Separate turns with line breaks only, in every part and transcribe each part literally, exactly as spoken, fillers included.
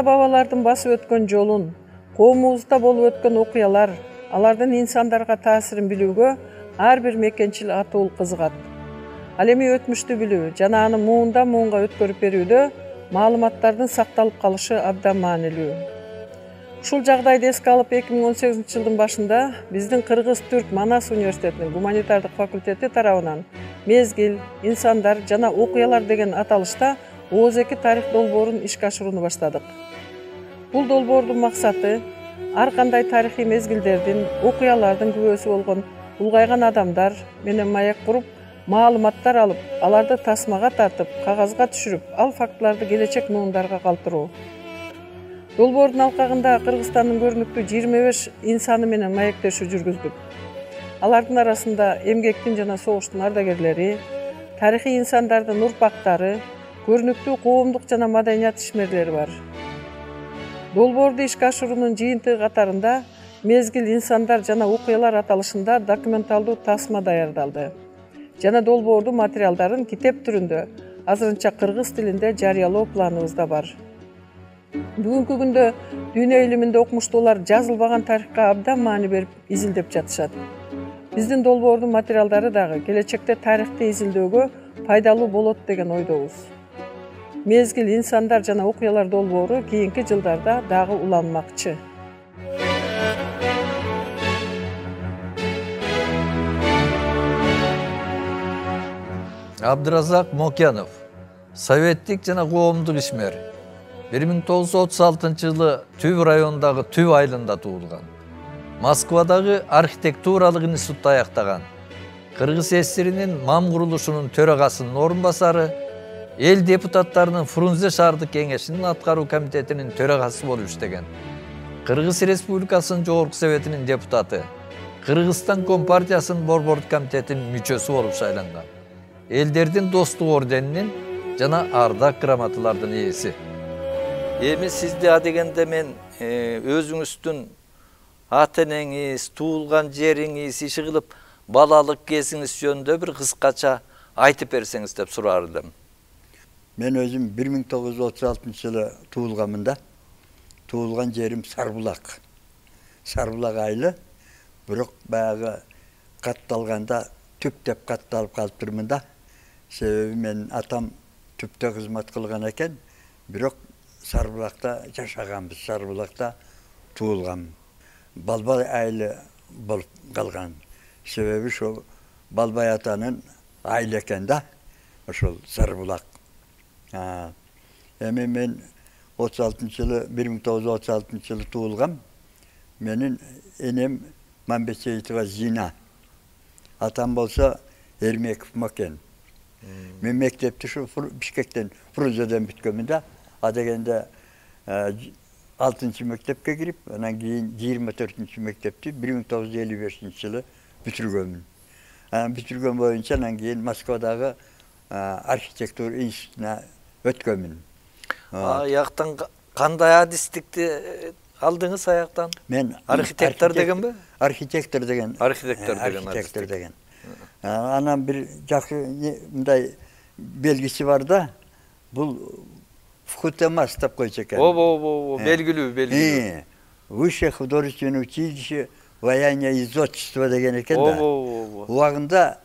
ата-бабалардын басып өткөн жолун, коомубузда болуп өткөн окуялар, алардын инсандарга таасирин билүүгө ар бир мекенчил атуул кызыгат. Ал эми өтмүштү билүү жана аны муундан муунга өткөрүп берүүдө маалыматтардын сакталып калышы абдан маанилүү. Ушул жагдайды эске алып эки миң он сегизинчи жылдын башында биздин Кыргыз-Түрк Манас университетинин гуманитардык факультети тарабынан мезгил, инсандар жана окуялар деген аталышта Ооз эки тарих долбоорун ишке ашырууну баштадык. Бул долбоордун максаты ар кандай тарыхый мезгилдердин, окуялардын күбөсү болгон улгайган адамдар менен маяк куруп, маалыматтар алып, аларды тасмага тартып, кагазга түшүрүп, ал фактыларды келечек муундарга калтыруу. Долбоордун алкагында Кыргызстандын көрүнүктүү жыйырма беш инсаны менен маектешүү жүргүздүк. Алардын арасында эмгектин жана согуштун ардагерлери, тарыхый инсандардын урпактары, көрүнүктүү коомдук жана маданият ишмерлери бар. Долбоорду ишке ашыруунун жыйынтыгы катарында мезгил, инсандар жана окуялар аталышында документалдуу тасма даярдалды жана долбоордун материалдарын китеп түрүндө азырынча кыргыз тилинде жарыялоо планыбызда бар. Бүгүнкү күндө дүйнө илиминде окумуштуулар жазылбаган тарыхка абдан маани берип изилдеп жатышат. Биздин долбоордун материалдары дагы келечекте тарыхты изилдөөгө пайдалуу болот деген ойдобуз. Мезгил, инсандар жана окуялар долбоору кийинки жылдарда дагы уланмакчы.
Абдыразак Мокенов, советтик жана коомдук ишмер. бир миң тогуз жүз отуз алтынчы жылы Түб районундагы Түб айылында туулган. Москвадагы архитектуралык институтта аяктаган. Кыргыз ССРинин МАМ курулушунун төрагасынын орун басары, эл депутаттарынын Фрунзе шаардык кеңешинин аткаруу комитетинин төрагасы болуп иштеген. Кыргыз Республикасынын Жогорку Советинин депутаты, Кыргызстан Компартиясынын Борбордук комитетинин мүчөсү болуп шайланган. Элдердин достук орденинин жана ардак грамоталардын ээси. Эми сизди адегенде мен өзүңүздүн ата-энеңиз, туулган жериңиз, иши кылып балалык кезиңиз жөнүндө бир кыскача айтып берсеңиз деп сурар элем.
Мен өзүм бир миң тогуз жүз отуз алтынчы жылы туулганмын да. Туулган жерим Сарбулак. Сарбулак айылы, бирок баягы катталганда түптеп катталып калыптырмын да. Себеби мен атам түптө кызмат кылган экен, бирок Сарбулакта жашаганбыз, Сарбулакта туулгам. Балбай айылы болуп калган. Себеби ошол Балбай атанын айылы экен да, ошол Сарбулак. Эми мен отуз алтынчы жылы, бир миң тогуз жүз отуз алтынчы жылы туулгам. Менин энем Мамбет Сейитова Зина. Атам болсо Эрмеков Мокен. Мен мектепти ушу Бишкектен, Фрунзеден бүткөнмүн да. Адегенде алтынчы мектепке кирип, анан кийин жыйырма төртүнчү мектепти бир миң тогуз жүз элүү бешинчи жылы бүтүргөнмүн. Анан бүтүргөн боюнча анан кийин Москвадагы архитектура институтуна өткөнмүн.
Аяктан кандай адистикти алдыңыз аяктан?
Мен
архитектор дегенби?
Архитектор деген.
Архитектор деген.
Архитектор деген. Анан бир жакшы мындай белгиси бар да. Бул вхутемас деп койчу экен.
Ооба, ооба, белгилүү, белгилүү.
Высшее художественное училище вояния и зодчества деген экен да.
Ооба, ооба.
Убагында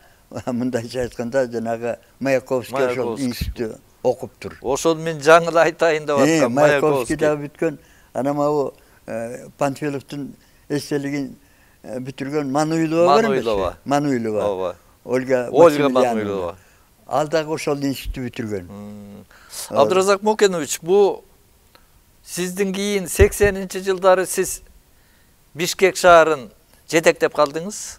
мындайча айтканда жанагы Маяковский ошол институтта окуптур.
Ошол мен жаңы айтайын деп аткам.
Маяковский да бүткөн. Анан могу Панфиловдун эстелигин бүтүргөн Мануилова бар эмеспи? Мануилова.
Ооба.
Ольга
Ольга Мануилова.
Ал дагы ошол институтты бүтүргөн.
Абдыразак Мокенович, бу сиздин кийин сексенинчи жылдары сиз Бишкек шаарын жетектеп калдыңыз.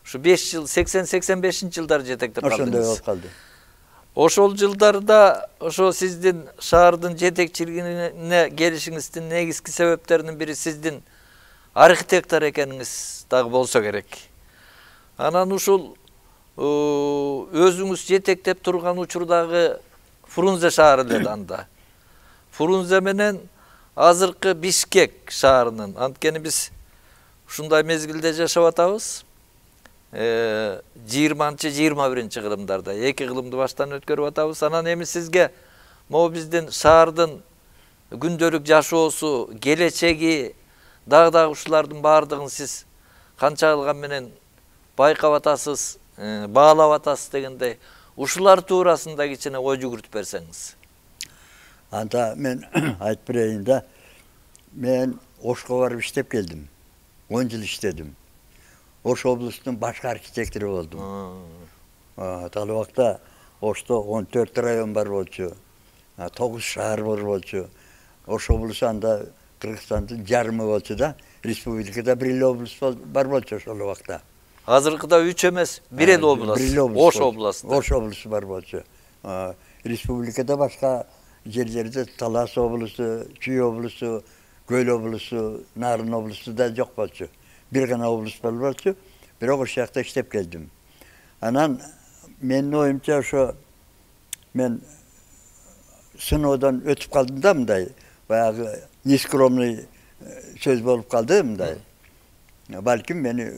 Ушу беш жыл, сексен сексен бешинчи жылдары жетектеп калдыңыз.
Ошондой болуп калды.
Ошол жылдарда ошо сиздин шаардын жетекчилигине келишиңиздин негизги себептеринин бири сиздин архитектор экениңиз дагы болсо керек. Анан ушул өзүңүз жетектеп турган учурдагы Фрунзе шаары эле анда. Фрунзе менен азыркы Бишкек шаарынын, анткени биз ушундай мезгилде жашап атабыз. жыйырманчы жыйырма биринчи кылымдарда эки кылымды баштан өткөрүп атабыз. Анан эми сизге могу биздин шаардын күндөлүк жашоосу, келечеги, дагы дагы ушулардын баардыгын сиз канчалыгы менен байкап атасыз, баалап атасыз дегендей, ушулар туурасында кичине ой жүгүртүп берсеңиз.
Анда мен айтып берейин да, мен Ошко барып иштеп келдим. он жыл иштедим. Ош облустунун башкы архитектору болдум. Ал убакта Ошто он төрт район бар болчу, тогуз шаар бар болчу. Ош облусу анда Кыргызстандын жарымы болчу да, республикада бир эле облус бар болчу ошол убакта.
Азыркыда үч эмес, бир эле облус. Ош облусунда.
Ош облусу бар болчу. Республикада башка жерлерде Талас облусу, Чүй облусу, Көл облусу, Нарын облусу да жок болчу. Бир гана облус бар болчу. Бирок ошол жакта иштеп келдим. Анан менин оюмча ошо мен сыноодон өтүп калдым да мындай, баягы нескромный сөз болуп калды мындай. Балким мени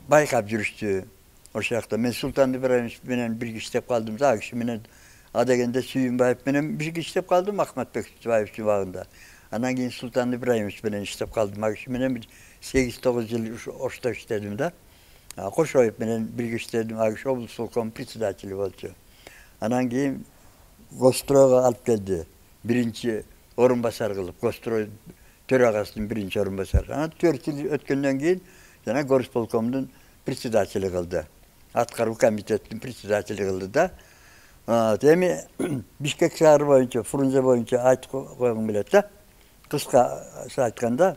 байкап жүрүштү. Ошол жакта мен Султан Ибраимович менен бирге иштеп калдым да, киши менен адегенде Сүйүнбаев менен бирге иштеп калдым Ахматбек Сүйүнбаевдин убагында. Анан кийин Султан Ибраимович менен иштеп калдым. Киши менен сегиз тогуз жыл Ошто иштедим да. Кошоев менен бирге иштедим. Киши облсполком председатели болчу. Анан кийин Гостройго алып келди. Биринчи орун басар кылып, Гострой төрагасынын биринчи орун басары. Анан төрт жыл өткөндөн кийин жана горсполкомдун председатели кылды. Аткаруу комитеттин председатели кылды да. Эми Бишкек шаары боюнча, Фрунзе боюнча айтып койгум келет да. Кыска айтканда,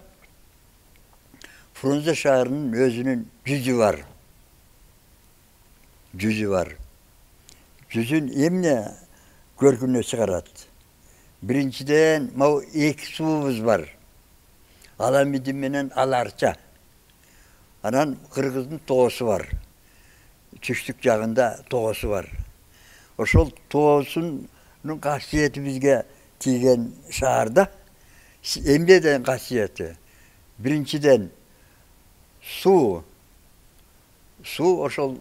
Фрунзе шаарынын өзүнүн жүзү бар. Жүзү бар. Жүзүн эмне көркүнө чыгарат? Биринчиден, могу эки суубуз бар. Аламидин менен Аларча. Анан Кыргыздын тоосу бар. Түштүк жагында тоосу бар. Ошол тоосунун касиети бизге тийген шаарда эмнеден касиети? Биринчиден суу. Суу ошол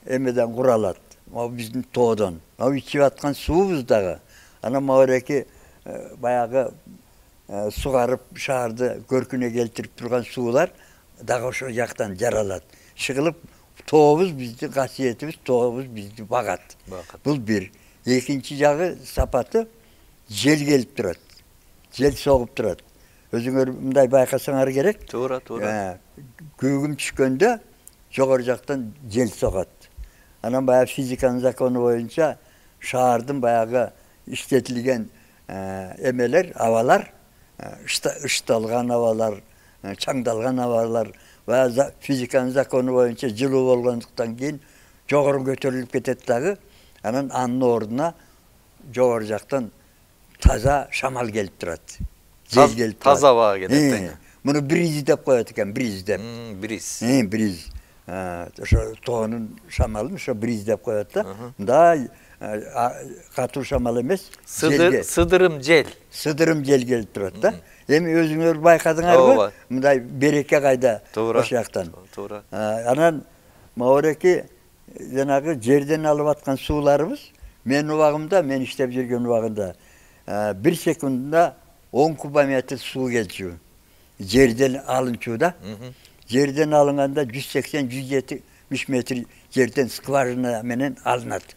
эмеден куралат. Могу биздин тоодон. Могу ичип аткан суубуз дагы. Анан могуреки баягы сугарып шаарды көркүнө келтирип турган суулар дагы ошол жактан жаралат. Чыгылып тообуз биздин касиетибиз, тообуз бизди багат. Бул бир. Экинчи жагы сапаты жел келип турат. Жел согуп турат. Өзүңөр мындай байкасаңар керек.
Туура, туура.
Көгүм түшкөндө жогору жактан жел согот. Анан баягы физиканын закону боюнча шаардын баягы иштетилген эмелер, абалар, ышталган абалар, чаңдалган абалар, баягы физиканын закону боюнча жылуу болгондуктан кийин жогору көтөрүлүп кетет дагы. Анан анын ордуна жогору жактан таза шамал келип турат. Жел келип турат.
Таза аба кетет.
Муну бриз деп коет экен, бриз деп.
Бриз.
Бриз. Ошо тоонун шамалын ошо бриз деп коет да. Мындай катуу шамал эмес,
сыдырым жел.
Сыдырым жел келип турат да. Эми өзүңөр байкадыңарбы? Мындай береке кайда ошол жактан.
Туура.
Анан могуреки жанагы жерден алып аткан сууларыбыз менин убагымда, мен иштеп жүргөн убагында бир секундда он кубометр суу келчү. Жерден алынчу да. Жерден алынганда жүз сексен жүз жетимиш метр жерден скважина менен алынат.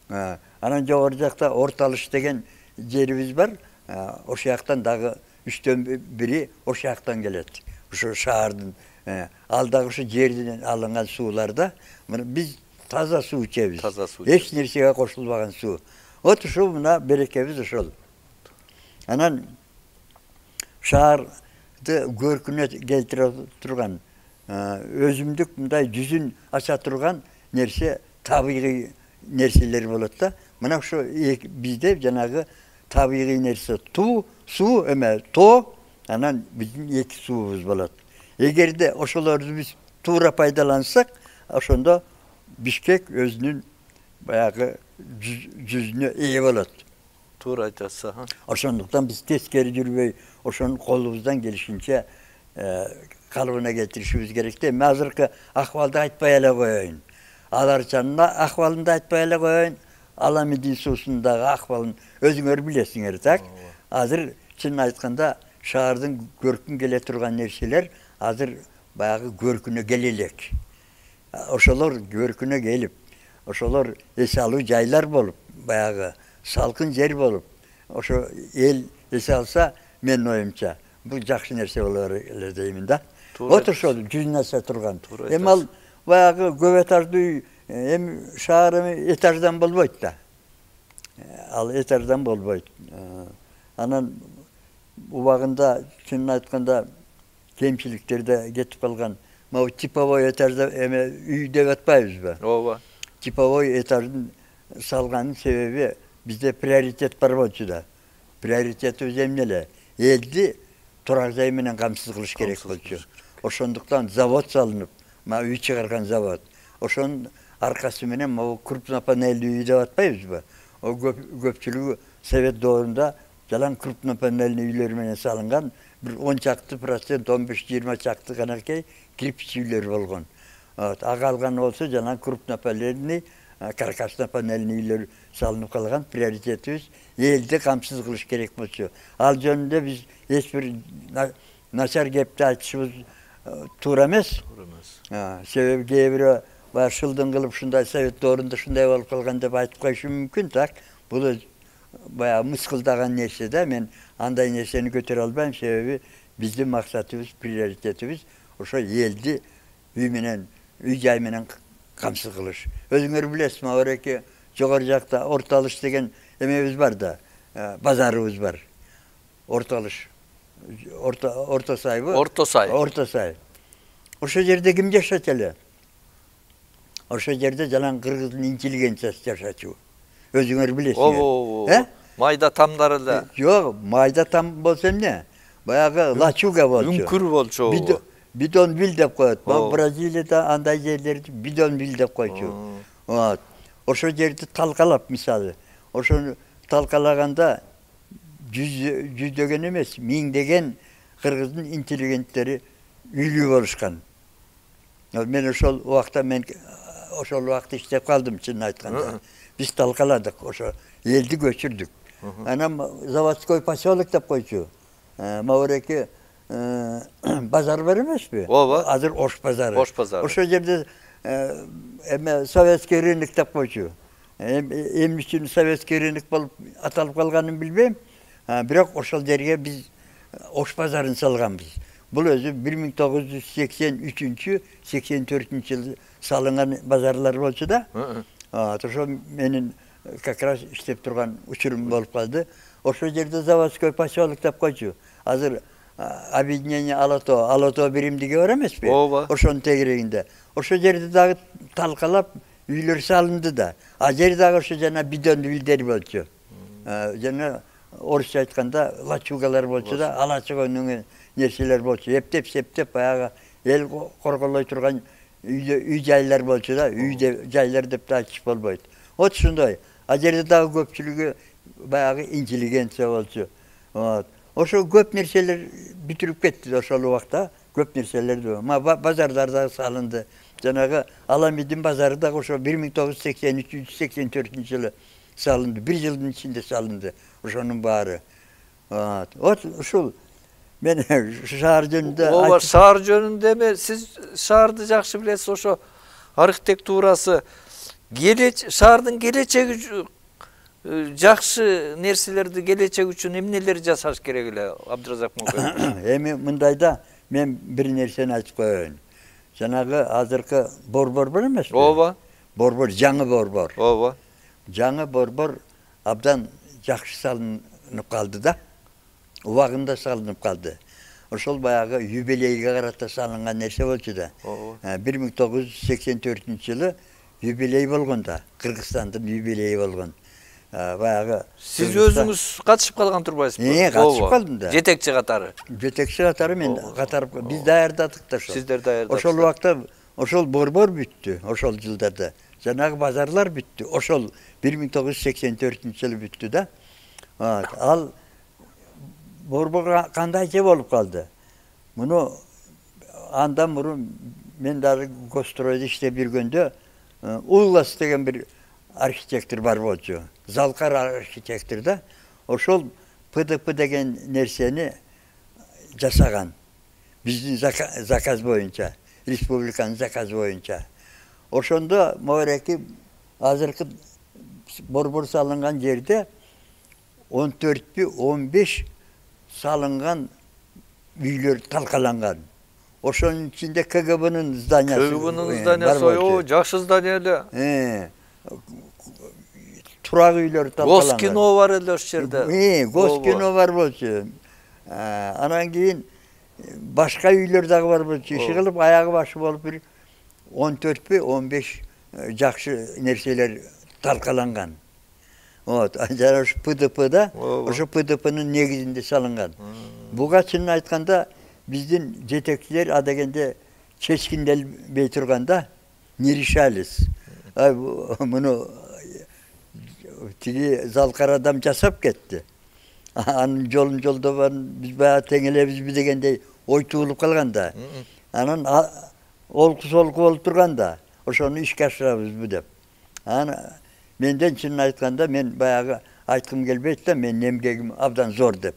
Анан жогору жакта Орталыш деген жерибиз бар. Ошол жактан дагы үчтөн бири ошол жактан келет. Ошо шаардын ал дагы ошо жерден алынган сууларда биз таза суу ичебиз.
Таза суу.
Эч нерсеге кошулбаган суу. Вот ушул мына берекебиз ошол. Анан шаар көркүнө келтире турган өзүмдүк мындай жүзүн ача турган нерсе табигый нерселер болот да. Мына ошо бизде жанагы табигый нерсе туу, суу эме тоо, анан биздин эки суубуз болот. Эгерде ошолорду биз туура пайдалансак, ошондо Бишкек өзүнүн баягы жүзүнө ээ болот.
Туура айтасыз.
Ошондуктан биз тескери жүрбөй, ошонун колубуздан келишинче калыбына келтиришибиз керек да. Эми азыркы акыбалды айтпай эле коеюн. Аларчанын акыбалын да айтпай эле коеюн. Аламидин суусундагы акыбалын өзүңөр билесиңер, так? Азыр чынын айтканда шаардын көркүн келе турган нерселер азыр баягы көркүнө келе элек. Ошолор көркүнө келип, ошолор эс алуу жайлар болуп, баягы салкын жер болуп, ошо эл эс алса, менин оюмча, бул жакшы нерсе болор эле деймин да. Вот ошол жүз нерсе турган. Эми ал баягы көп этаждуу үй, эми шаар эми этаждан болбойт да. Ал этаждан болбойт. Анан убагында чынын айтканда кемчиликтер да кетип калган. Могу типовой этажда эме үй деп атпайбызбы?
Ооба.
Типовой этаждын салганын себеби бизде приоритет бар болчу да. Приоритетибиз эмне эле? Элди турак жай менен камсыз кылыш керек болчу. Ошондуктан завод салынып, мына үй чыгарган завод. Ошонун аркасы менен могу крупнопанельдүү үй деп атпайбызбы? О көпчүлүгү совет доорунда жалаң крупнопанельдүү үйлөр менен салынган, бир он чакты процент, он беш жыйырма чакты канакей кирпич үйлөр болгон. Ага калганы болсо жалаң крупнопанельдүү, каркасно-панельдүү үйлөр салынып калган. Приоритетибиз элди камсыз кылыш керек болчу. Ал жөнүндө биз эч бир начар кепти айтышыбыз туура эмес.
Туура эмес.
Себеби кээ бирөө баягы шылдың кылып ушундай совет доорунда ушундай болуп калган деп айтып коюшу мүмкүн, так. Бул баягы мыскылдаган нерсе да. Мен андай нерсени көтөрө албайм, себеби биздин максатыбыз, приоритетибиз ошо элди үй менен, үй жай менен камсыз кылыш. Өзүңөр билесиз, Мавреке жогору жакта Орталыш деген эмебиз бар да, базарыбыз бар. Орталыш. Орто Орто сайбы?
Орто сай.
Орто сай. Ошо жерде ким жашачу эле? Ошо жерде жалаң кыргыздын интеллигенциясы жашачу. Өзүңөр билесиңер.
Оо. Майда тамдар эле.
Жок, майда там болсо эмне? Баягы лачуга болчу.
Үңкүр болчу.
Бидон бил деп коет. Бразилияда андай жерлерди бидон бил деп койчу. Вот. Ошо жерди талкалап, мисалы. Ошону талкалаганда жүздөгөн эмес, миңдеген кыргыздын интеллигенттери үйлүү болушкан. Мен ошол убакта мен ошол убакта иштеп калдым, чынын айтканда. Биз талкаладык, ошо элди көчүрдүк. Анан заводской поселок деп койчу. Мавреке базар бар эмеспи?
Ооба.
Азыр Ош базары.
Ош базары.
Ошол жерде эме советский рынок деп койчу. Эмне үчүн советский рынок болуп аталып калганын билбейм. Бирок ошол жерге биз Ош базарын салганбыз. Бул өзү бир миң тогуз жүз сексен үчүнчү сексен төртүнчү жылы салынган базарлар болчу да. Ошо менин как раз иштеп турган учурум болуп калды. Ошол жерде заводской поселок деп койчу. Азыр объединение Алато, Алато биримдиги бар эмеспи?
Ооба.
Ошонун тегерегинде. Ошол жерде дагы талкалап үйлөр салынды да. А жер дагы ошо жана бидон үйлдер болчу. Жана орусча айтканда лачугалар болчу да, алачыгөнүн нерселер болчу. Эптеп септеп баягы эл корголой турган үй жайлар болчу да. Үй жайлар деп да айтыш болбойт. Вот ушундай. А жерде дагы көпчүлүгү баягы интеллигенция болчу. Вот. Ошо көп нерселер бүтүрүп кетти ошол убакта. Көп нерселерди. Базарлар дагы салынды. Жанагы Аламидин базары дагы ошо бир миң тогуз жүз сексен үчүнчү сексен төртүнчү жылы салынды. Бир жылдын ичинде салынды ошонун баары. Вот ушул мен шаар жөнүндө
Ооба, шаар жөнүндө эме сиз шаарды жакшы билесиз, ошо архитектурасы, келеч шаардын келечеги жакшы нерселерди келечек үчүн эмнелер жасаш керек эле, Абдыразак Мокоев?
Эми мындайда мен бир нерсени айтып коеюн. Жанагы азыркы борбор бар эмеспи?
Ооба.
Борбор, жаңы борбор.
Ооба.
Жаңы борбор абдан жакшы салынып калды да. Убагында салынып калды. Ошол баягы юбилейге карата салынган нерсе болчу да. бир миң тогуз жүз сексен төртүнчү жылы юбилей болгон да. Кыргызстандын юбилейи болгон. Баягы
сиз өзүңүз катышып калган турбайсызбы?
Э, катышып калдым да.
Жетекчи катары.
Жетекчи катары мен катарып, биз даярдадык да ошол.
Сиздер даярдадыңыздар.
Ошол убакта ошол борбор бүттү, ошол жылдарда. Жанагы базарлар бүттү. Ошол бир миң тогуз жүз сексен төртүнчү жылы бүттү да. Ал борбор кандайча болуп калды? Муну андан мурун мен дагы Гостройдо иштеп жүргөндө Уллас деген бир архитектор бар болчу. Залкар архитектор да. Ошол П Д П деген нерсени жасаган. Биздин заказ боюнча, республиканын заказы боюнча. Ошондо могереки азыркы борбор салынган жерде он төртпү он беш салынган үйлөр талкаланган. Ошонун ичинде К Г Б'нын зданиясы.
К Г Б'нын зданиясы о, жакшы здания эле.
Турак үйлөр талкаланган.
Госкино бар эле ошол жерде.
Э, Госкино бар болчу. Анан кийин башка үйлөр дагы бар болчу. Иши кылып аягы башы болуп бир он төртпү он беш жакшы нерселер талкаланган. Вот, жана ушу П Д П'да, ошо П Д П'нын негизинде салынган. Буга чынын айтканда биздин жетекчилер а дегенде чечкинделбей турганда не решались. Муну тиги залкар адам жасап кетти. Анын жолун жолдобон биз баягы тең элебизби дегендей ой туулуп калганда. Анан олку солку болуп турганда ошону ишке ашырабызбы деп. Анан менден чынын айтканда мен баягы айткым келбейт да, менин эмгегим абдан зор деп.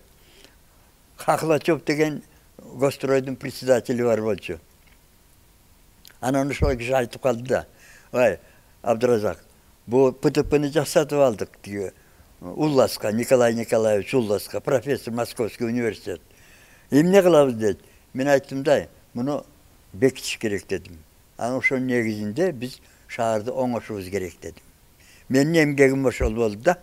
Хохлачев деген Гостройдун председатели бар болчу. Анан ошол киши айтып калды да: "Ой, Абдыразак, бу П Д П'ни жасатып алдык тиги Улласка, Николай Николаевич Улласка, профессор Московский университет. Эмне кылабыз?" дейт. Мен айттым да, муну бекитиш керек дедим. Анан ошонун негизинде биз шаарды оңошубуз керек дедим. Менин эмгегим ошол болду да.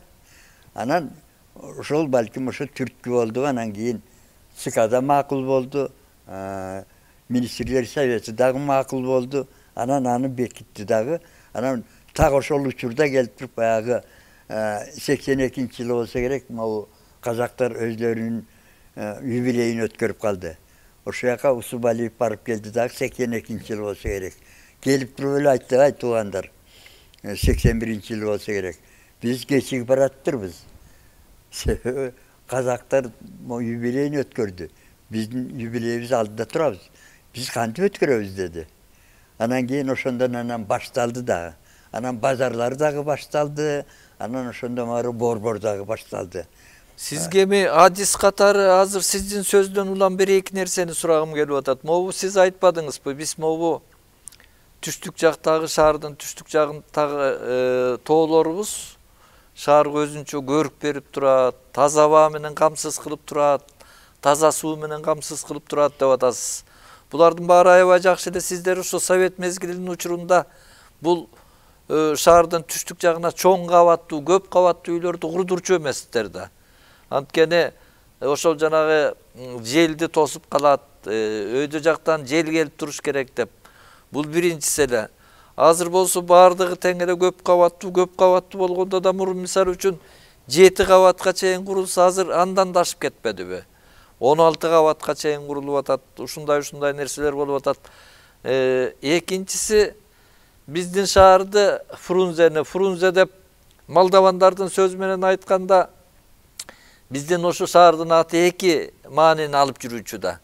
Анан ошол балким ошо түрткү болду, анан кийин ЦКда макул болду, министрлер совети дагы макул болду. Анан аны бекитти дагы. Анан так ошол учурда келип туруп баягы сексен экинчи жылы болсо керек, могу казактар өзлөрүнүн юбилейин өткөрүп калды. Ошол жака Усубалиев барып келди дагы сексен экинчи жыл болсо керек. Келип туруп эле айтты: "Ай туугандар, сексен биринчи жыл болсо керек. Биз кечигип бараттырбыз. Казактар юбилейин өткөрдү. Биздин юбилейибиз алдыда турабыз. Биз кантип өткөрөбүз?" деди. Анан кийин ошондон анан башталды дагы. Анан базарлар дагы башталды. Анан ошондон ары борбор дагы башталды.
Сизге эми адис катары азыр сиздин сөздөн улам бир эки нерсени сурагым келип атат. Могу сиз айтпадыңызбы? Биз могу түштүк жактагы шаардын түштүк жагындагы тоолорубуз шаарга өзүнчө көрүк берип турат, таза аба менен камсыз кылып турат, таза суу менен камсыз кылып турат деп атасыз. Булардын баары аябай жакшы эле. Сиздер ошо совет мезгилинин учурунда бул шаардын түштүк жагына чоң кабаттуу, көп кабаттуу үйлөрдү курдурчу эмессиздер да. Анткени ошол жанагы желди тосуп калат, өйдө жактан жел келип туруш керек деп. Бул биринчиси эле. Азыр болсо баардыгы тең эле көп кабаттуу, көп кабаттуу болгондо да мурун мисал үчүн жети кабатка чейин курулса, азыр андан да ашып кетпедиби? он алты кабатка чейин курулуп атат. Ушундай ушундай нерселер болуп атат. Экинчиси, биздин шаарды Фрунзени, Фрунзе деп молдавандардын сөзү менен айтканда, биздин ошо шаардын аты эки маанини алып жүрүүчү да.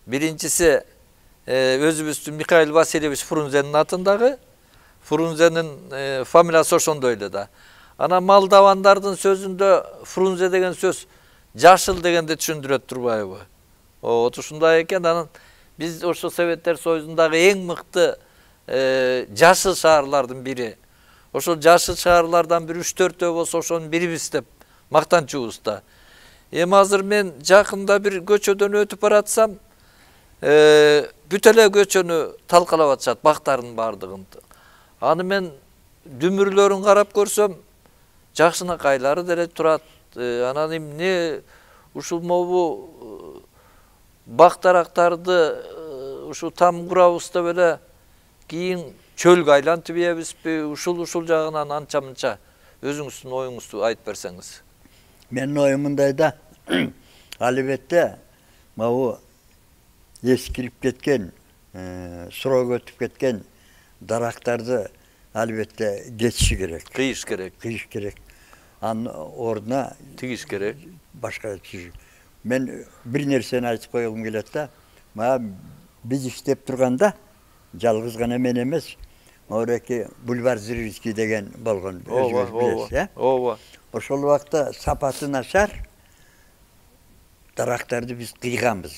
Биринчиси өзүбүздүн Михаил Васильевич Фрунзенин атындагы, Фрунзенин фамилиясы ошондой эле да. Анан молдавандардын сөзүндө Фрунзе деген сөз жашыл дегенди түшүндүрөт турбайбы? Вот ушундай экен. Анан биз ошо Советтер Союзундагы эң мыкты жашыл шаарлардын бири. Ошол жашыл шаарлардан бир үч төртөө болсо ошонун бирибиз деп мактанчубуз да. Эми азыр мен жакында бир көчөдөн өтүп баратсам, бүт эле көчөнү талкалап атышат, бактардын баардыгын. Аны мен дүмүрлөрүн карап көрсөм, жакшынакайлары деле турат. Анан эмне ушул могу бактарактарды ушу там курабыз деп эле кийин чөлгө айлантып ийебизби? Ушул ушул жагынан анча мынча өзүңүздүн оюңузду айтып берсеңиз.
Менин оюм мындай да. Албетте могу эскирип кеткен, срок өтүп кеткен дарактарды албетте кетиши керек.
Кыйыш керек.
Кыйыш керек. Анын ордуна
тигиш керек.
Башка тигиш. Мен бир нерсени айтып койгум келет да. Мага биз иштеп турганда жалгыз гана мен эмес, Мореки бульвар Зырильский деген болгон, өзүңүз билесиз, э?
Ооба.
Ошол убакта сапаты начар, дарактарды биз кыйганбыз.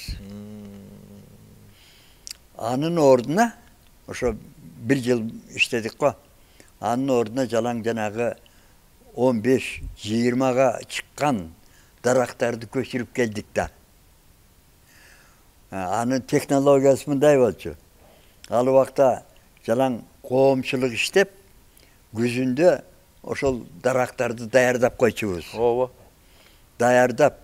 Анын ордуна ошо бир жыл иштедик го. Анын ордуна жалаң жанагы он беш жыйырмага чыккан дарактарды көчүрүп келдик да. Анын технологиясы мындай болчу. Ал убакта жалаң коомчулук иштеп, күзүндө ошол дарактарды даярдап койчубуз.
Ооба.
Даярдап,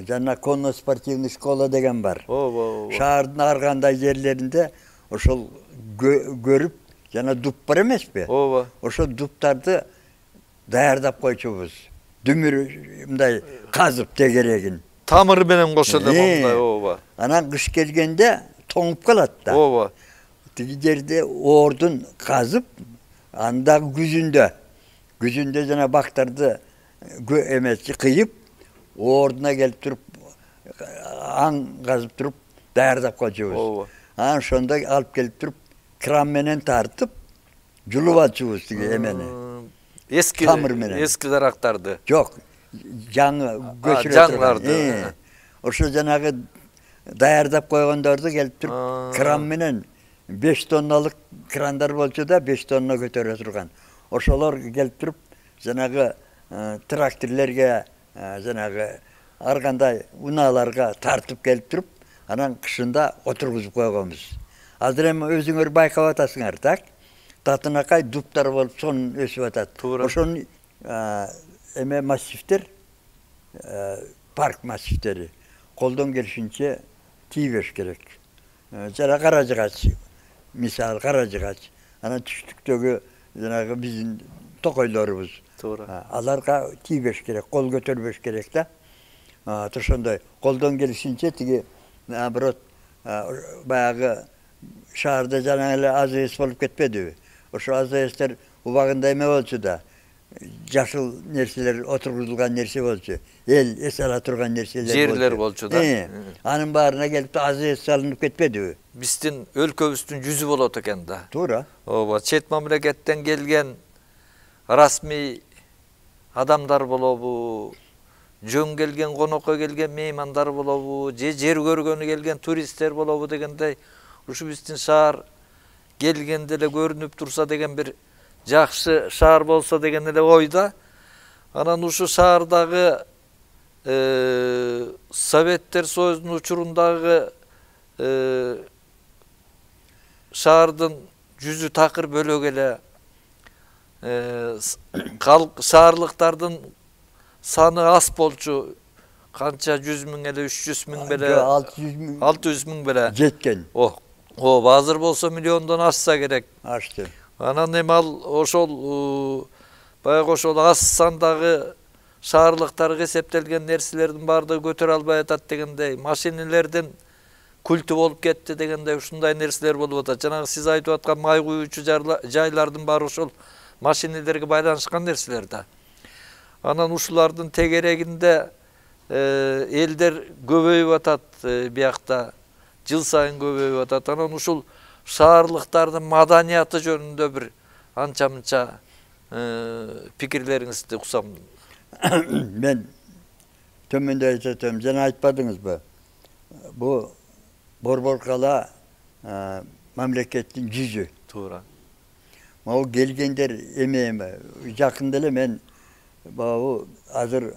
жана конно-спортивный школа деген бар.
Ооба.
Шаардын ар кандай жерлеринде ошол көрүп, жана дуп бар эмеспи?
Ооба.
Ошол дуптарды даярдап койчубуз. Дүмүр мындай казып тегерегин.
Тамыры менен кошо эле мындай, ооба.
Анан кыш келгенде тоңуп калат да.
Ооба.
Тиги жерде ордун казып, андагы күзүндө, күзүндө жана бактарды эмеси кыйып, ордуна келип туруп, аң казып туруп даярдап койчубуз.
Ооба.
Анан ошондо алып келип туруп, кран менен тартып, жулуп алчубуз тиги эмени.
Эски
тамыр менен.
Эски дарактарды.
Жок, жаңы көчүрө
жаңыларды.
Ошо жанагы даярдап койгондорду келип туруп, кран менен беш тонналык крандар болчу да, беш тонна көтөрө турган. Ошолор келип туруп, жанагы тракторлерге, жанагы ар кандай унааларга тартып келип туруп, анан кышында отургузуп койгонбуз. Азыр эми өзүңөр байкап атасыңар, так? Татынакай дуптар болуп сонун өсүп атат. Ошонун эме массивтер, парк массивтери колдон келишинче тийбеш керек. Жана кара жыгач, мисалы кара жыгач, анан түштүктөгү жанагы биздин токойлорубуз. Аларга тийбеш керек, кол көтөрбөш керек да. Ошондой колдон келишинче тиги наоборот баягы шаарда жана эле АЗС болуп кетпедиби? Ошо АЗСтер убагында эме болчу да. Жашыл нерселер отургузулган нерсе болчу. Эл эс ала турган нерселер болчу.
Жерлер болчу да.
Анын баарына келип АЗС салынып кетпедиби?
Биздин өлкөбүздүн жүзү болот экен да.
Туура.
Ооба, чет мамлекеттен келген расмий адамдар болобу, жөн келген, конокко келген меймандар болобу, же жер көргөнү келген туристтер болобу дегендей, ушу биздин шаар келгенде эле көрүнүп турса деген бир жакшы шаар болсо деген эле ойда. Анан ушу шаардагы Советтер Союзунун учурундагы шаардын жүзү такыр бөлөк эле шаарлыктардын саны аз болчу. Канча жүз миң эле, үч жүз миң беле, алты жүз миң беле
жеткен.
Ооба, азыр болсо миллиондон ашса керек.
Ашты.
Анан эми ал ошол баягы ошол аз сандагы шаарлыктарга эсептелген нерселердин баардыгы көтөрө албай атат дегендей, машинелердин культу болуп кетти дегендей ушундай нерселер болуп атат. Жанагы сиз айтып аткан май куюучу жайлардын баары ошол машинелерге байланышкан нерселер да. Анан ушулардын тегерегинде элдер көбөйүп атат биякта, жыл сайын көбөйүп атат. Анан ушул шаарлыктардын маданияты жөнүндө бир анча-мынча пикирлериңизди уксам.
Мен төмөндө айтатам, жана айтпадыңызбы? Бу Борбор кала мамлекеттин жүзү.
Туура.
Могу келгендер эме жакында эле мен бабу азыр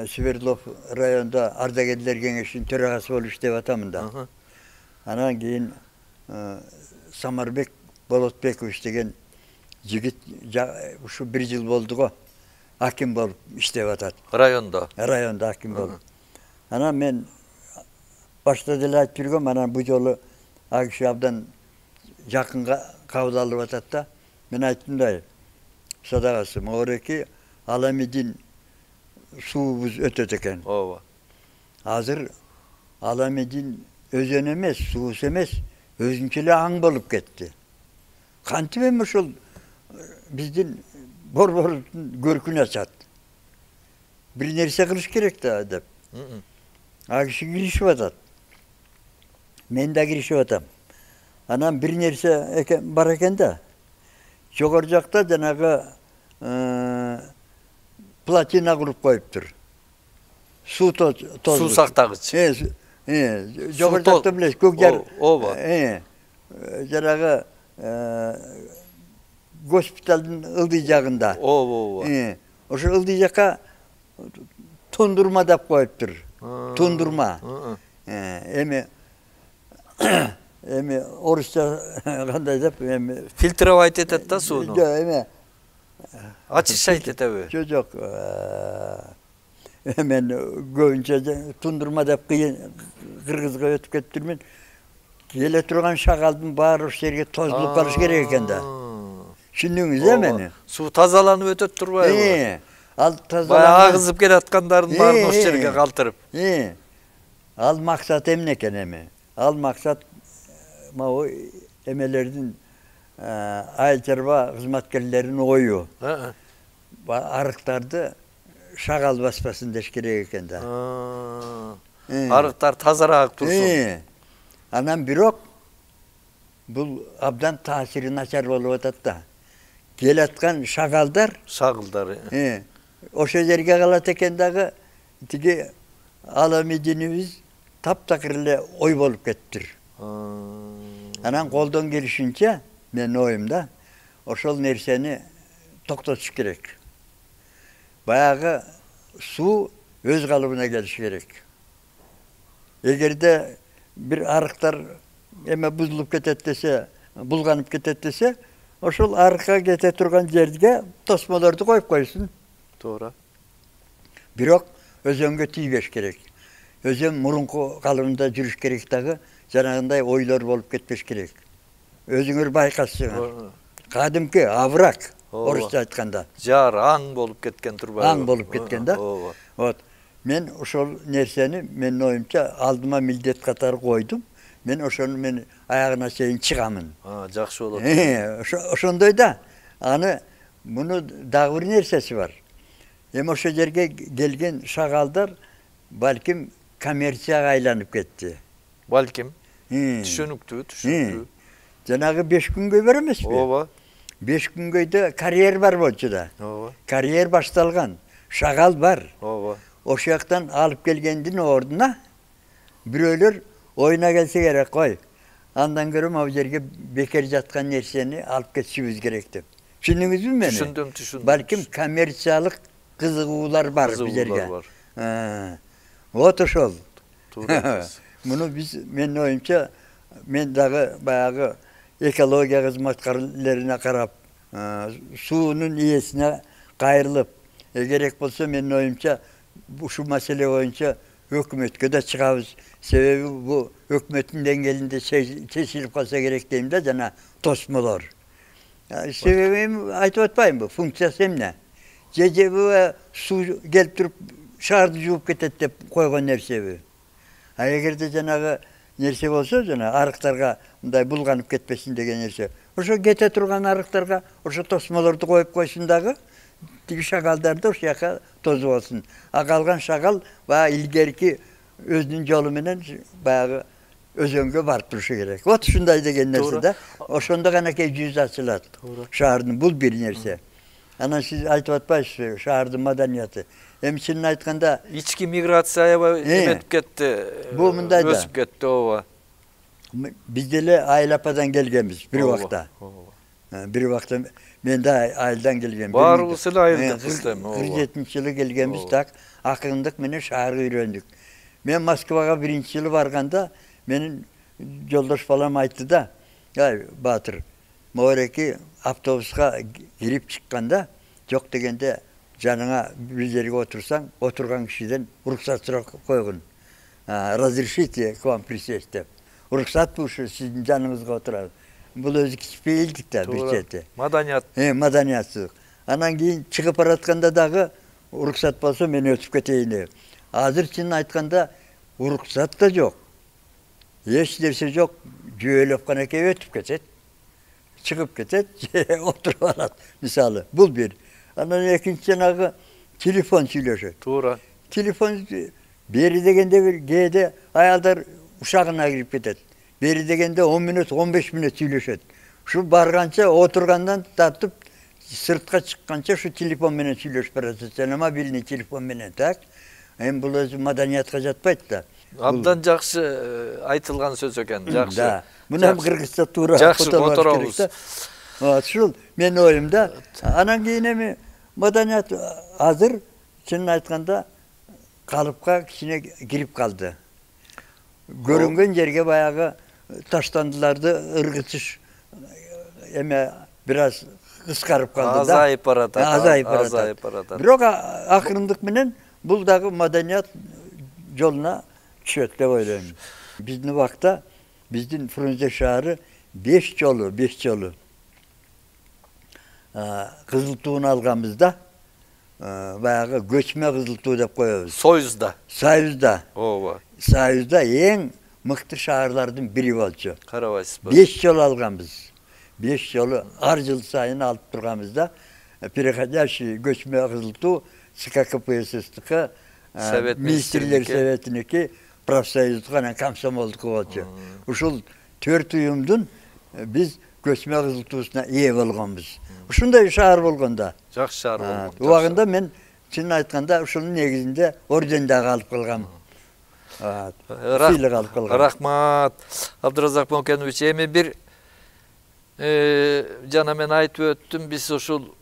Свердлов районунда ардагерлер кеңешинин төрагасы болуп иштеп атамын да. Анан кийин Самарбек Болотбекович деген жигит ушу бир жыл болду го. Аким болуп иштеп атат.
Райондо.
Райондо аким болуп. Анан мен башта деле айтып жүргөм, анан бу жолу ал киши абдан жакынга кабыл алып атат да. Мен айттым да, садагасы, могуреки Аламедин суубуз өтөт экен.
Ооба.
Азыр Аламедин өзөн эмес, суубуз эмес, өзүнчө эле аң болуп кетти. Кантип эми ошол биздин борбордун көркүн ачат. Бир нерсе кылыш керек да деп. А киши киришип атат. Мен да киришип атам. Анан бир нерсе бар экен да. Жогору жакта жанагы плотина куруп коюптур. суу тоз.
Суу сактагыч.
Э, жогору жакта билесиз, көк жар.
Ооба.
Э, жанагы госпиталдын ылдый жагында.
Ооба, ооба.
Э, ошо ылдый жакка тундурма деп коюптур. Тундурма. Э, эми эми орусча кандай деп эми
фильтровать этет да сууну.
Жок, эми
очищать этеби?
Жок, жок. Мен көбүнчө тундурма деп кыргызга өтүп кетиптирмин. Келе турган шагалдын баары ошол жерге тозулуп калыш керек экен да. Түшүндүңүз э мени?
Суу тазаланып өтөт турбайбы?
Э, ал тазаланып
баягы агызып келаткандардын баарын ошол жерге калтырып.
Э. Ал максат эмне экен эми? Ал максат могу эмелердин айыл чарба кызматкерлеринин ою. Арыктарды шагал баспасын деш керек экен да.
Арыктар тазараак турсун.
Анан бирок бул абдан таасири начар болуп атат да. Келаткан шагалдар,
шагылдар.
Э, ошол жерге калат экен дагы тиги алами динибиз таптакыр эле ой болуп кеттир. Анан колдон келишинче менин оюмда ошол нерсени токтотуш керек. Баягы суу өз калыбына келиш керек. Эгерде бир арыктар эме бузулуп кетет десе, булганып кетет десе, ошол арыкка кете турган жерге тосмолорду коюп койсун.
Туура.
Бирок өзөнгө тийбеш керек. Өзөн мурунку калыбында жүрүш керек дагы, жанагындай ойлор болуп кетпеш керек. Өзүңөр байкасыңар. Кадимки аврак, орусча айтканда.
Жар, аң болуп кеткен турбайбы?
Аң болуп кеткен да. Вот. Мен ошол нерсени менин оюмча алдыма милдет катары койдум. Мен ошону мен аягына чейин чыгамын.
А, жакшы болот.
Э, ошондой да. Аны муну дагы бир нерсеси бар. Эми ошол жерге келген шагалдар балким коммерцияга айланып кетти.
Балким. Түшүнүктүү, түшүнүктүү.
Жанагы беш күнгөй бар эмеспи?
Ооба.
беш күнгөйдө карьер бар болчу да.
Ооба.
Карьер башталган. Шагал бар.
Ооба.
Ошол жактан алып келгендин ордуна бирөөлөр оюна келсе керек кой. Андан көрө могу жерге бекер жаткан нерсени алып кетишибиз керек деп. Түшүндүңүзбү мени?
Түшүндүм, түшүндүм.
Балким коммерциялык кызыгуулар бар бу жерге. Вот ошол.
Туура.
Муну биз менин оюмча мен дагы баягы экология кызматкерлерине карап, суунун ээсине кайрылып, керек болсо менин оюмча ушул маселе боюнча өкмөткө да чыгабыз. Себеби бу өкмөттүн деңгээлинде чечилип калса керек дейм да, жана тосмолор. Себеби айтып атпаймынбы? Функциясы эмне? Же суу келип туруп шаарды жууп кетет деп койгон нерсеби? А эгерде жанагы нерсе болсо, жана арыктарга мындай булганып кетпесин деген нерсе. Ошо кете турган арыктарга ошо тосмолорду коюп койсун дагы, тиги шагалдарды ошол жака тозуп алсын. А калган шагал баягы илгерки өзүнүн жолу менен баягы өзөнгө барып турушу керек. Вот ушундай деген нерсе да. Ошондо гана кей жүз ачылат. Шаардын бул бир нерсе. Анан сиз айтып атпайсызбы, шаардын маданияты. Эми чынын айтканда
ички миграция аябай эметип кетти.
Бул мындай да.
Өсүп кетти, ооба.
Биз деле айыл ападан келгенбиз бир убакта. Бир убакта мен да айылдан келгем.
Баарыбыз эле айылдыкпыз эми, ооба.
кырк жетинчи жылы келгенбиз, так акындык менен шаарга үйрөндүк. Мен Москвага биринчи жылы барганда менин жолдош балам айтты да, "Ай, Батыр, могереки автобуска кирип чыкканда, жок дегенде жаныңа бир жерге отурсаң, отурган кишиден уруксат сурап койгун. Разрешите к вам присесть деп. Уруксат ушу сиздин жаныңызга отурат. Бул өзү кичпейилдик да бир чети.
Маданият.
Э, маданиятсыздык. Анан кийин чыгып баратканда дагы уруксат болсо мен өтүп кетейин деп. Азыр чынын айтканда уруксат да жок. Эч нерсе жок, жөөлөп гана келип өтүп кетет. Чыгып кетет, отуруп алат. Мисалы, бул бир. Анан экинчи жанагы телефон сүйлөшөт.
Туура.
Телефон бери дегенде бир кээде аялдар ушагына кирип кетет. Бери дегенде он мүнөт, он беш мүнөт сүйлөшөт. Ушу барганча отургандан тартып сыртка чыкканча ушу телефон менен сүйлөшүп баратат. Жана мобильный телефон менен, так? Эми бул өзү маданиятка жатпайт да.
Абдан жакшы айтылган сөз экен. Жакшы.
Да. Мына кыргызча туура
жакшы которобуз.
Ушул менин оюмда. Анан кийин эми маданият азыр чынын айтканда калыпка кичине кирип калды. Көрүнгөн жерге баягы таштандыларды ыргытыш эме бир аз кыскарып калды да.
Азайып баратат.
Азайып баратат. Бирок акырындык менен бул дагы маданият жолуна түшөт деп ойлойм. Биздин убакта биздин Фрунзе шаары беш жолу, беш жолу кызыл туун алганбызда, баягы көчмө кызыл туу деп коебуз.
Союзда.
Союзда.
Ооба.
Союзда эң мыкты шаарлардын бири болчу.
Карабайсызбы?
беш жолу алганбыз. беш жолу ар жыл сайын алып турганбызда, переходящий көчмө кызыл туу СККПССтики, министрлер советиники, профсоюздук анан комсомолдуку болчу. Ушул төрт уюмдун биз көчмө кызыл туусуна ээ болгонбуз. Ушундай шаар болгондо.
Жакшы шаар болгон.
Убагында мен чынын айтканда ушунун негизинде орден дагы алып калгам. Сыйлык алып калгам.
Рахмат. Абдыразак Мокенович, эми бир жана мен айтып өттүм, биз ушул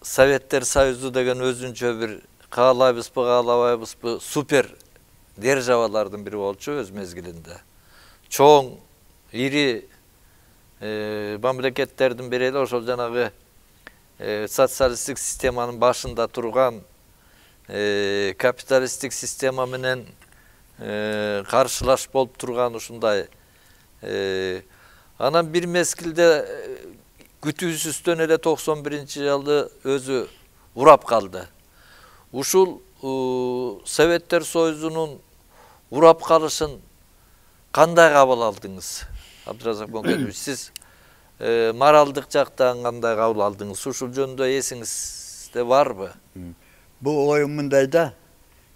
Советтер Союзу деген өзүнчө бир каалайбызбы, каалабайбызбы супер державалардын бири болчу өз мезгилинде. Чоң, ири мамлекеттердин бири эле ошол жанагы социалисттик системанын башында турган капиталисттик система менен каршылаш болуп турган ушундай. Анан бир мезгилде күтүүсүздөн эле токсон биринчи жылы өзү урап калды. Ушул Советтер Союзунун урап калышын кандай кабыл алдыңыз? Абдыразак Мокенович, сиз моралдык жактан кандай кабыл алдыңыз? Ушул жөнүндө эсиңизде барбы?
Бул оюм мындай да,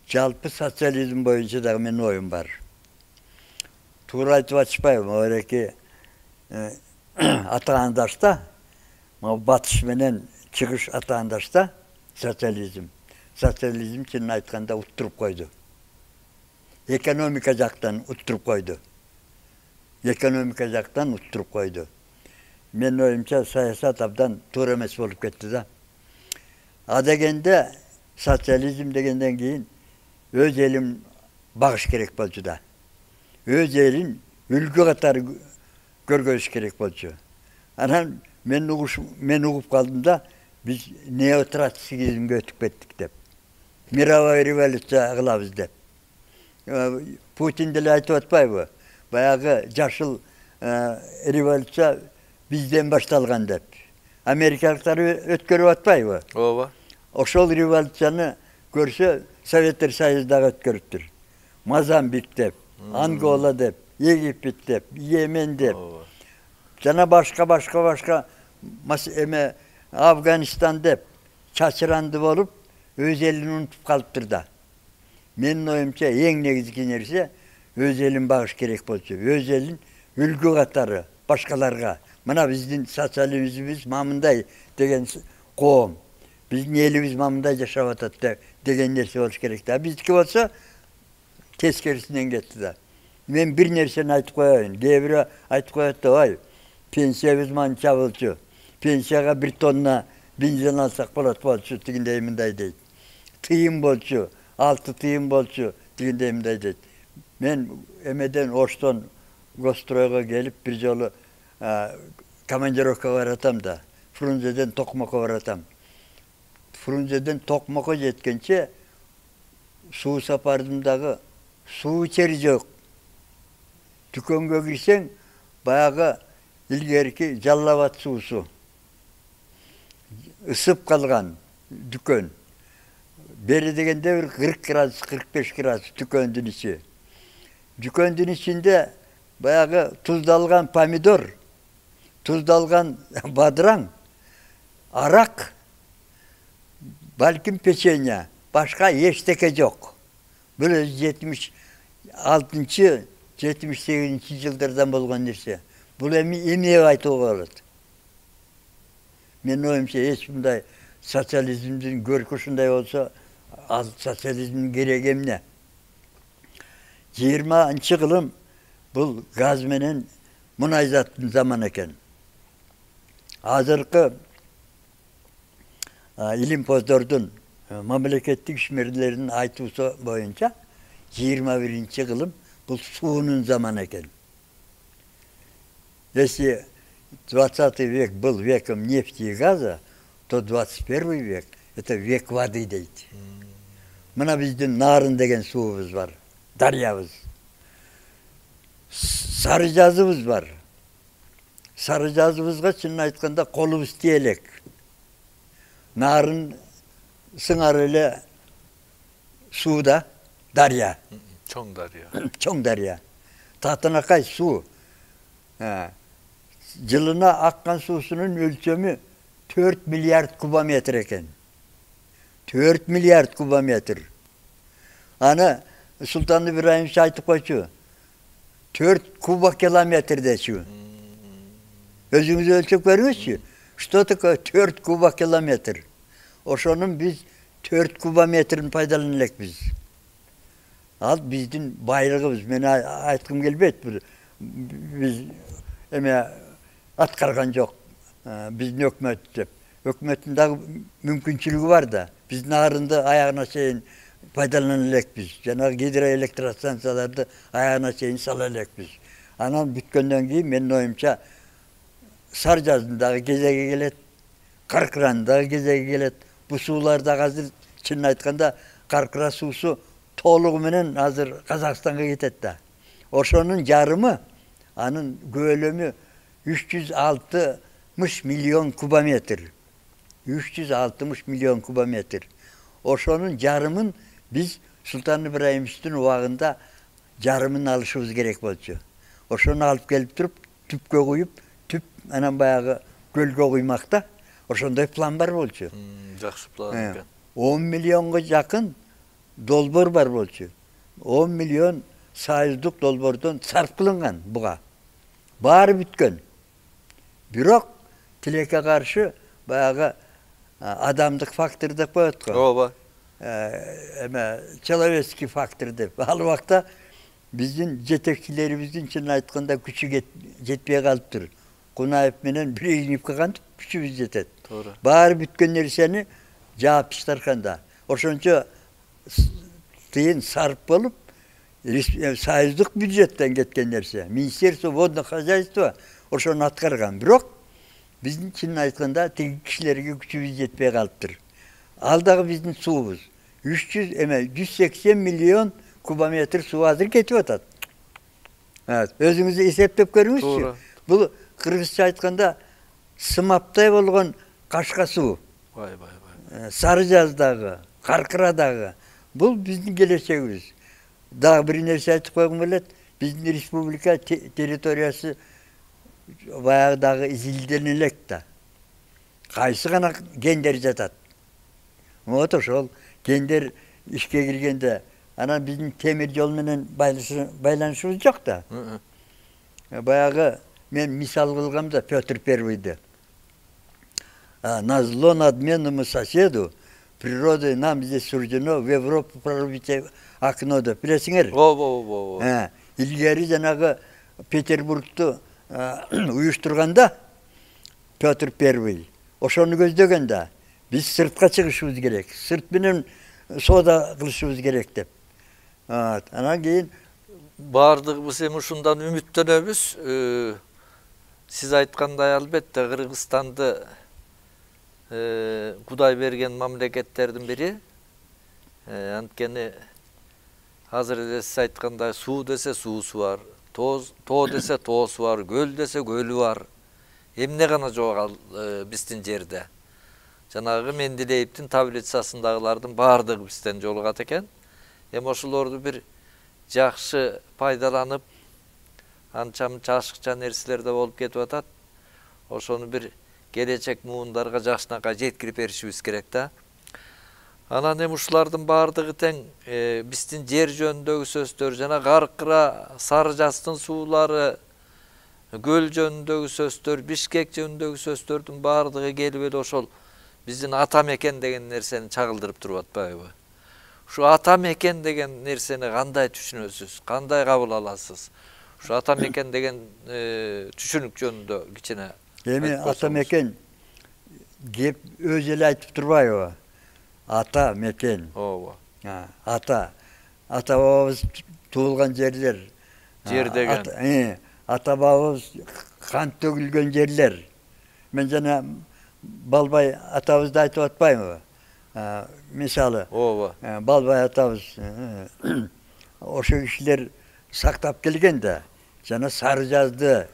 жалпы социализм боюнча дагы менин оюм бар. Туура айтып атышпайбы, ореки атаандашта, батыш менен чыгыш атаандашта социализм. Социализм чынын айтканда уттуруп койду. Экономика жактан уттуруп койду. Экономика жактан уттуруп койду. Менин оюмча саясат абдан туура эмес болуп кетти да. А дегенде социализм дегенден кийин өз элин багыш керек болчу да. Өз элин үлгү катары көргөзүш керек болчу. Анан мен угуш мен угуп калдым да, биз неотроцкизмге өтүп кеттик деп. Мировой революция кылабыз деп. Путин деле айтып атпайбы? Баягы жашыл революция бизден башталган деп. Америкалыктар өткөрүп атпайбы?
Ооба.
Ошол революцияны көрсө Советтер Союзу дагы өткөрүптүр. Мозамбик деп, Ангола деп, Египет деп, Йемен деп. Жана башка башка башка эме Афганистан деп чачыранды болуп өз элин унутуп калыптыр да. Менин оюмча эң негизги нерсе өз элин багыш керек болчу. Өз элин үлгү катары башкаларга. Мына биздин социализмибиз мамындай деген коом. Биздин элибиз мамындай жашап атат деген нерсе болуш керек да. Биздики болсо тескерисинен кетти да. Мен бир нерсени айтып коеюн. Кээ бирөө айтып коет да, ой, пенсиябыз манча болчу. Пенсияга бир тонна бензин алсак болот болчу, дегендей мындай дейт. Тыйын болчу, алты тыйын болчу, дегендей мындай дейт. Мен эмеден Оштон Гостройго келип бир жолу командировкага баратам да. Фрунзеден Токмокко баратам. Фрунзеден Токмокко жеткенче суу сапардым дагы суу ичери жок. Дүкөнгө кирсең, баягы илгерки Жалал-Абад суусу. Ысып калган дүкөн. Бери дегенде бир кырк градус, кырк беш градус дүкөндүн ичи. Дүкөндүн ичинде баягы туздалган помидор, туздалган бадыраң, арак, балким печенье, башка эчтеке жок. Бул жетимиш алтынчы, жетимиш сегизинчи жылдардан болгон нерсе. Бул эми эмне айтууга болот? Мен оюмча эч мындай социализмдин көркү ушундай болсо, Ал социализмдин кереги эмне? жыйырманчы кылым бул газ менен мунай заттын заманы экен. Азыркы илимпоздордун, мамлекеттик ишмерлердин айтуусу боюнча жыйырма биринчи кылым бул суунун заманы экен. Если двадцатый век был веком нефти и газа, то двадцать первый век это век воды дейт. Мына биздин Нарын деген суубуз бар, дарыябыз. Сары жазыбыз бар. Сары жазыбызга чынын айтканда колубуз тие элек. Нарын сыңар эле сууда, дарья.
Чоң дарья.
Чоң дарья. Татынакай суу. Жылына аккан суусунун өлчөмү төрт миллиард кубометр экен. төрт миллиард кубометр. Аны Султан Ибраимович айтып койчу. төрт кубокилометр дечү. Өзүңүз өлчөп көрүңүзчү. Что такое төрт кубокилометр? Ошонун биз төрт кубометрин пайдалана элекпиз. Ал биздин байлыгыбыз. Мен айткым келбейт. Биз эме аткарган жок. Биздин өкмөт деп. Өкмөттүн дагы мүмкүнчүлүгү бар да. Биз Нарынды аягына чейин пайдалана элекпиз. Жанагы гидроэлектростанцияларды аягына чейин сала элекпиз. Анан бүткөндөн кийин менин оюмча Сар жазындагы кезеги келет, Каркырандагы кезеги келет. Бу суулар дагы азыр чынын айтканда Каркыра суусу толугу менен азыр Казакстанга кетет да. Ошонун жарымы, анын көлөмү үч жүз алтымыш миллион кубометр. үч жүз алтымыш миллион кубометр. Ошонун жарымын биз Султан Ибраимовичтин убагында жарымын алышыбыз керек болчу. Ошону алып келип туруп, түпкө куюп, түп анан баягы көлгө куймакта. Ошондой план бар болчу.
Жакшы план экен.
он миллионго жакын долбоор бар болчу. он миллион союздук долбоордон сарп кылынган буга. Баары бүткөн. Бирок тилекке каршы баягы адамдык фактор деп коет го.
Ооба.
Эме человеческий фактор деп. Ал убакта биздин жетекчилерибиздин чынын айтканда күчү жетпей калыптыр. Кунаев менен Брежневке кантип күчүбүз жетет.
Туура.
Баары бүткөн нерсени жаап таштарканда. Ошончо тыйын сарп болуп, союздук бюджеттен кеткен нерсе. Министерство водного хозяйства ошону аткарган. Бирок биздин чынын айтканда тиги кишилерге күчүбүз жетпей калыптыр. Ал дагы биздин суубуз. үч жүз эме жүз сексен миллион кубометр суу азыр кетип атат. Өзүңүз эсептеп көрүңүзчү. Бул кыргызча айтканда сымаптай болгон кашка суу.
Бай бай бай.
Сары жаздагы, Каркырадагы. Бул биздин келечегибиз. Дагы бир нерсе айтып койгум келет. Биздин республика территориясы баягыдагы изилдене элек да. Кайсы гана гендер жатат. Вот ошол гендер ишке киргенде анан биздин темир жол менен байланышыбыз жок да. Баягы мен мисал кылгам да Петр Первыйды. Назло надменному соседу природой нам здесь суждено в Европу прорубить окно деп билесиңер.
Ооба ооба.
Илгери жанагы Петербургту уюштурганда Петр Первый ошону көздөгөн да. Биз сыртка чыгышыбыз керек. Сырт менен соода кылышыбыз керек деп. Анан кийин
баардыгыбыз эми ушундан үмүттөнөбүз. Сиз айткандай албетте Кыргызстанды Кудай берген мамлекеттердин бири. Анткени азыр эле сиз айткандай суу десе суусу бар, тоо десе тоосу бар, көл десе көлү бар. Эмне гана жок ал биздин жерде. Жанагы Менделеевдин таблицасындагылардын баардыгы бизден жолугат экен. Эми ошолорду бир жакшы пайдаланып, анча-мынча ашыкча нерселер да болуп кетип атат. Ошону бир келечек муундарга жакшынакай жеткирип беришибиз керек да. Анан эми ушулардын баардыгы тең биздин жер жөнүндөгү сөздөр, жана Каркыра, Сары жаздын суулары, көл жөнүндөгү сөздөр, Бишкек жөнүндөгү сөздөрдүн баардыгы келип эле ошол биздин ата мекен деген нерсени чагылдырып туруп атпайбы. Ушу ата мекен деген нерсени кандай түшүнөсүз? Кандай кабыл аласыз? Ушу ата мекен деген түшүнүк жөнүндө кичине.
Эми ата мекен кеп өзү эле айтып турбайбы? Ата мекен.
Ооба.
Ата. Ата бабабыз туулган жерлер.
Жер деген.
Ата бабабыз кан төгүлгөн жерлер. Мен жана Балбай атабызды айтып атпаймынбы? Мисалы.
Ооба.
Балбай атабыз ошо кишилер сактап келген да. Жана Сары Жазды,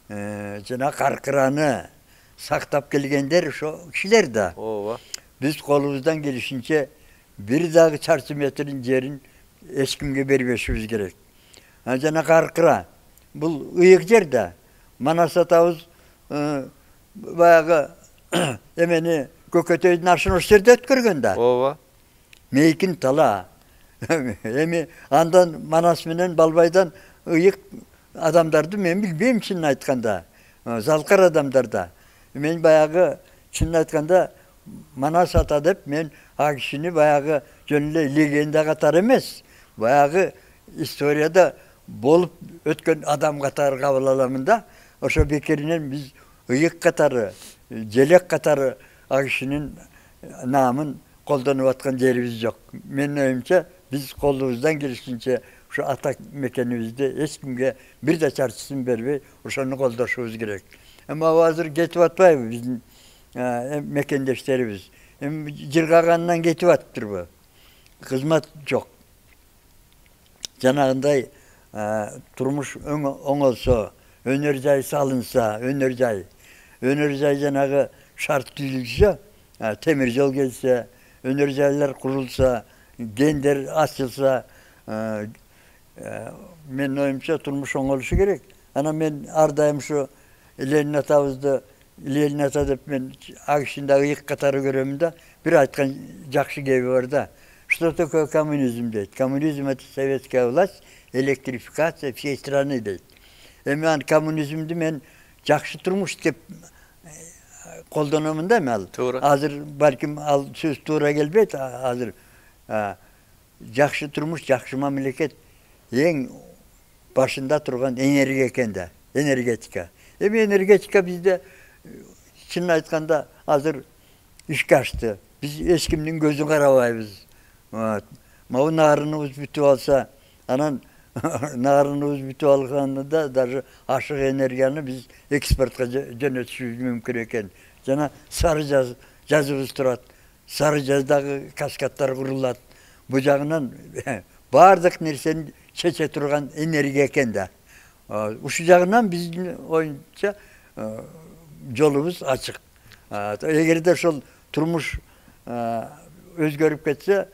жана Каркыраны сактап келгендер ошо кишилер да.
Ооба.
Биз колубуздан келишинче бир дагы чарчы метрин жерин эч кимге бербешибиз керек. Жана Каркыра бул ыйык жер да. Манас атабыз баягы эмени Көкөтөйдүн ашын ошол жерде өткөргөн да.
Ооба.
Мейкин тала. Эми андан Манас менен Балбайдан ыйык адамдарды мен билбейм, чынын айтканда. Залкар адамдар да. Мен баягы чынын айтканда Манас ата деп мен а кишини баягы жөн эле легенда катары эмес, баягы историяда болуп өткөн адам катары кабыл аламын да. Ошо бекеринен биз ыйык катары, желек катары а кишинин наамын колдонуп аткан жерибиз жок. Менин оюмча биз колубуздан келишинче ушу ата мекенибизди эч кимге бир да чарчысын бербей ошону колдошубуз керек. Эми азыр кетип атпайбы биздин мекендештерибиз? Эми жыргагандан кетип атыптырбы? Кызмат жок. Жанагындай турмуш оңолсо, өнөр жай салынса, өнөр жай, өнөр жай жанагы шарт түзүлсө, темир жол келсе, өнөр жайлар курулса, гендер ачылса, менин оюмча турмуш оңолушу керек. Анан мен ар дайым ушу Ленин атабызды, Ленин ата деп мен а кишини да ыйык катары көрөмүн да, бир айткан жакшы кеби бар да. Что такое коммунизм дейт? Коммунизм — это советская власть, электрификация всей страны дейт. Эми ан коммунизмди мен жакшы турмуш деп колдономун да мен. Азыр балким ал сөз туура келбейт. Азыр жакшы турмуш, жакшы мамлекет эң башында турган энергия экен да, энергетика. Эми энергетика бизде чынын айтканда азыр ишке ашты. Биз эч кимдин көзүн карабайбыз. Могу нарыныбыз бүтүп алса, анан нарыныбыз бүтүп алганда даже ашык энергияны биз экспортко жөнөтүшүбүз мүмкүн экен. Жана Сары Жазыбыз турат. Сары Жаздагы каскадтар курулат. Бу жагынан баардык нерсени чече турган энергия экен да. Ушул жагынан биздин оюнча жолубуз ачык. Эгерде ошол турмуш өзгөрүп кетсе,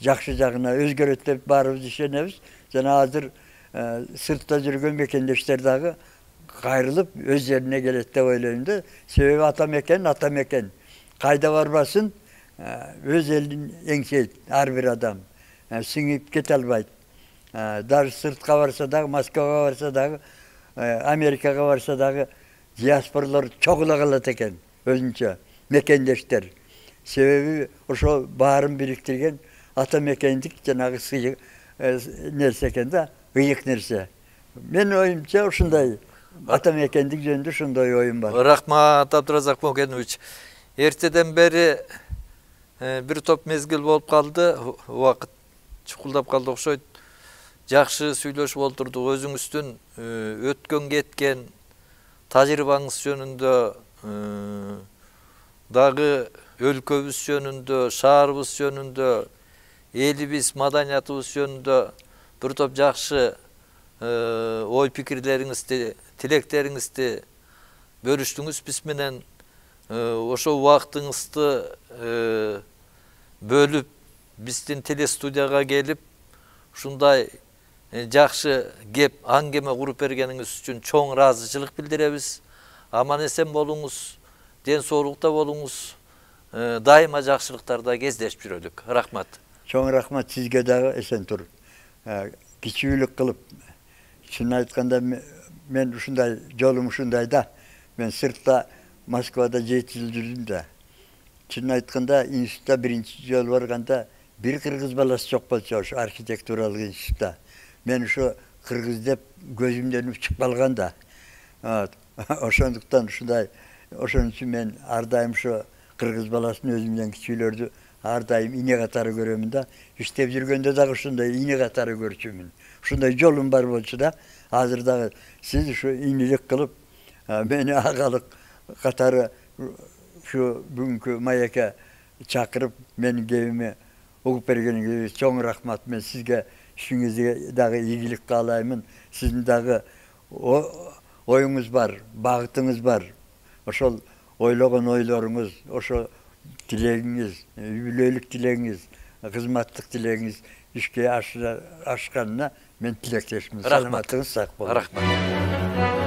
жакшы жагына өзгөрөт деп баарыбыз ишенебиз. Жана азыр сыртта жүргөн мекендештер дагы кайрылып өз жерине келет деп ойлойм да. Себеби ата мекен, ата мекен. Кайда барбасын, өз элин эңсейт ар бир адам. Сиңип кете албайт. Даже сыртка барса дагы, Москвага барса дагы, Америкага барса дагы диаспоралар чогула калат экен өзүнчө мекендештер. Себеби ошо баарын бириктирген ата мекендик жанагы сый нерсе экен да, ыйык нерсе. Менин оюмча ушундай ата мекендик жөнүндө ушундай оюм бар.
Рахмат, Абдыразак Могенович. Эртеден бери бир топ мезгил болуп калды, убакыт чукулдап калды окшойт. Жакшы сүйлөшүп олтурдук. Өзүңүздүн өткөн кеткен тажрыйбаңыз жөнүндө, дагы өлкөбүз жөнүндө, шаарыбыз жөнүндө, элибиз, маданиятыбыз жөнүндө бир топ жакшы ой пикирлериңизди, тилектериңизди бөлүштүңүз биз менен. Ошо убактыңызды бөлүп биздин телестудияга келип ушундай жакшы кеп аңгеме куруп бергениңиз үчүн чоң ыраазычылык билдиребиз. Аман эсен болуңуз, ден соолукта болуңуз, дайыма жакшылыктарда кездешип жүрөлүк. Рахмат.
Чоң рахмат сизге дагы, эсен тур. Кичүүлүк кылып, чынын айтканда мен ушундай жолум ушундай да. Мен сыртта Москвада жети жыл жүрдүм да. Чынын айтканда институтта биринчи жолу барганда бир кыргыз баласы жок болчу ошо архитектуралык институтта. Мен ошо кыргыз деп көзүмдөн учуп калган да. Ошондуктан ушундай ошон үчүн мен ар дайым ошо кыргыз баласын өзүмдөн кичүүлөрдү ар дайым ине катары көрөмүн да. Иштеп жүргөндө дагы ушундай ине катары көрчүмүн. Ушундай жолум бар болчу да. Азыр дагы сиз ушу инелик кылып мени агалык катары ушу бүгүнкү маекке чакырып менин кебиме угуп бергениңизге чоң рахмат. Мен сизге ишиңизге дагы ийгилик каалаймын. Сиздин дагы оюңуз бар, багытыңыз бар. Ошол ойлогон ойлоруңуз, ошо тилегиңиз, үй бүлөлүк тилегиңиз, кызматтык тилегиңиз ишке ашканына мен тилектешмин. Саламатыңыз сак болуңуз.
Рахмат.